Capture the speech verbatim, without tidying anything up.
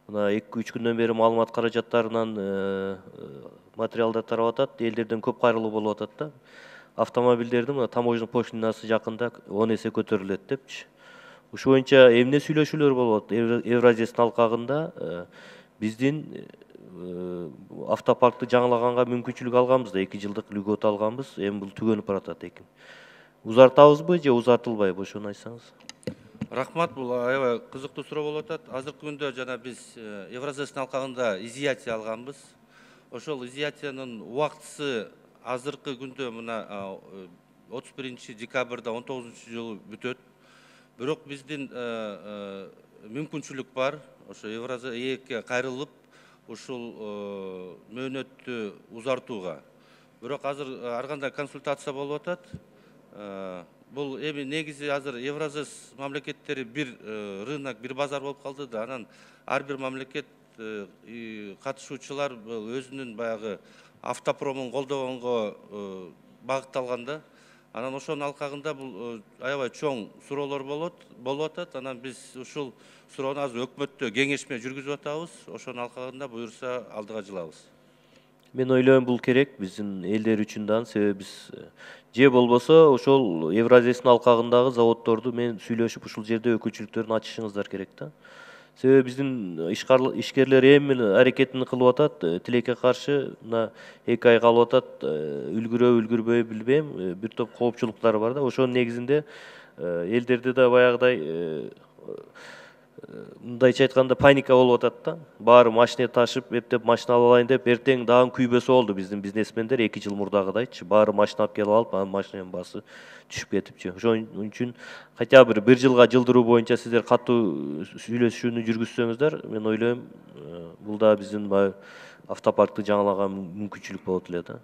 мына эки үч күндөн бери маалымат каражаттарынан материалдар тарап атат, элдерден көп кайрылуу болуп атат да. Автомобилдердин мына таможня пошлинасы жакында он эсе көтөрүлөт депчи. Ушул боюнча эмне сүйлөшүүлөр болуп атат? Евразиянын алкагында биздин автопаркты жаңылаганга мүмкүнчүлүк алганбыз да, эки жылдык льгота алганбыз. Эми бул түгөнүп баратат экен. Узартабызбы же узартылбайбы, ошону айтсаңыз. Рахмат, бул аябай кызыктуу суроо болуп атат. Азыркы күндө жана биз Евразиянын алкагында изъятие алганбыз. Ошол изъятиянын убактысы азыркы күндө мына отуз биринчи декабрда он тогузунчу жылы бүтөт. Бирок биздин мүмкүнчүлүк бар, ошо Евразияга кайрылып, ушул мөөнөттү узартууга. Бирок азыр ар кандай консультация болуп атат. Бул эми негизи азыр Евразия мамлекеттери бир рынок, бир базар болуп калды да, анан ар бир мамлекет катышуучулар өзүнүн баягы автопромун колдогонго багытталган да. Анан ошонун алкагында бул аябай чоң суроолор болот, болуп атат. Анан биз ушул суроону азыр өкмөттө кеңешме жүргүзүп атабыз. Ошонун алкагында буюрса алдыга жылабыз. Мен ойлойм бул керек биздин элдер үчүн да, себеби биз же болбосо ошол Евразиянын алкагындагы заводдорду мен сүйлөшүп ушул жерде өкүлчүлүктөрүн ачышыңыздар керек да. Себеби биздин ишкерлер эми аракетин кылып атат, тилекке каршы мына эки ай калып атат, үлгүрөбү үлгүрбөйбү билбейм, бир топ коопчулуктар бар да. Ошонун негизинде элдерде да баягыдай мындайча айтканда паника болуп атат да. Баары машина ташып, эптеп машина алып алайын деп, эртең дагы күйбөсө болду биздин бизнесмендер эки жыл мурдагыдайчы. Баары машина алып келип алып, анан машинанын баасы түшүп кетипчи. Ошон үчүн хотя бы бир жылга жылдыруу боюнча сиздер катуу сүйлөшүүнү жүргүзсөңүздөр, мен ойлойм, бул да биздин автопаркты жаңылаган мүмкүнчүлүк болот эле да.